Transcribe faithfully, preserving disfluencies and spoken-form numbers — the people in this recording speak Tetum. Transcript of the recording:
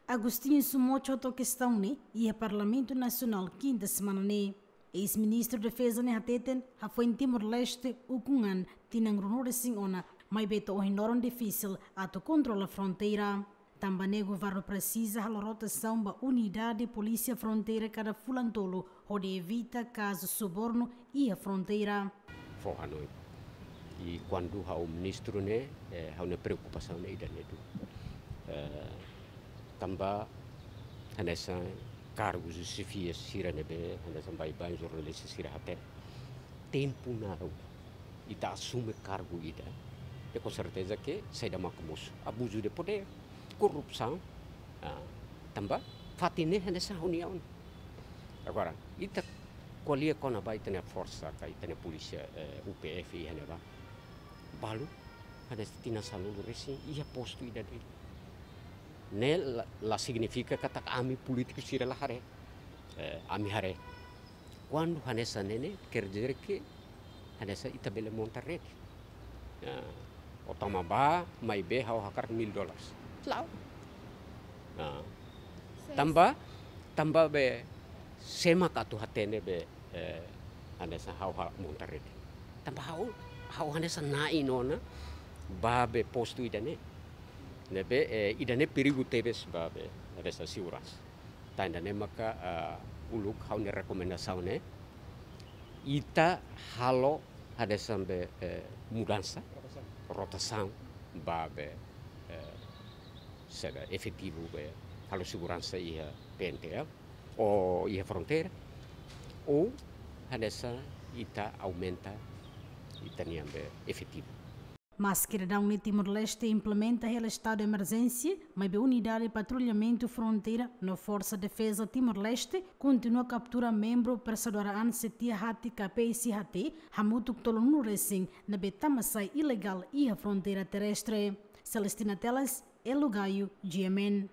Agostinho Sumocho to'o kestaun ne'e iha Parlamentu Nasionál kinta semana ne'e. Eis-Ministru Defeza ne'e hateten, hafoin Timor-Leste ukun an tinan ruanulu-resin-ona, maibé to'o ohin loron difisil atu kontrola fronteira. Tanba ne'e governu presiza halo rotasaun ba unidade Polísia Fronteira kada fulan tolu, hodi evita kazu subornu iha fronteira. Fó hanoin. I kuandu ha'u ministru ne'e, eh, ha'u-nia preokupasaun ne'e ida-ne'e duni. Eh, tanba hanesan kargu xefia sira ne'ebé, hanesan baibain jornalista sira hatene. Tempu naruk ita asume kargu ida, de com certeza que saida maka mosu. Abuzu de podér, korrupsaun, ah, tanba fatin ne'e hanesan ha'u-nia oan. Agora, ita ko'alia kona-ba ita-nia forsa, ka ita-nia polísia, eh, U P F iha ne'ebá. Balu, hanesan tinan sanulu-resin, iha postu ida de'it. Ne'e la, la signifika katak ami polítiku sira la haree. Eh, ami haree. Kuandu hanesan ne'e ne'e, quer dizer que hanesan ita bele monta rede. Ya, ó tama bá, maibé ha'u hakarak mil dólares. La'o. Ya. Tanba, tanba be, sé mak atu hatene be, eh, hanesan ha'u hakarak monta rede. Tanba ha'u, ha'u hanesan na'in ona, ba be postu ida-ne'e. Ne'ebé, eh, ida-ne'e perigu tebes ba be, hanesan seguransa. Tan ida-ne'e maka, eh, uluk ha'u-nia rekomendasaun ne'e, ita halo hanesan be, eh, mudansa, rotasaun, ba be, eh, saida, efetivu be, halo seguransa iha P N T L, ou iha fronteira, ou hanesan ita aumenta ita-nian be efetivu. Maske daudaun ne'e Timor-Leste implementa hela estadu emerjénsia, maibé unidade patrullamentu fronteira no Forsa Defeza Timor-Leste kontinua kaptura membru persekutora an C T H T ka P S H T, hamutuk tolunulu-resin, ne'ebé tama-sai ilegál iha fronteira terrestre. Celestina Teles, Elo Gayo, G M N.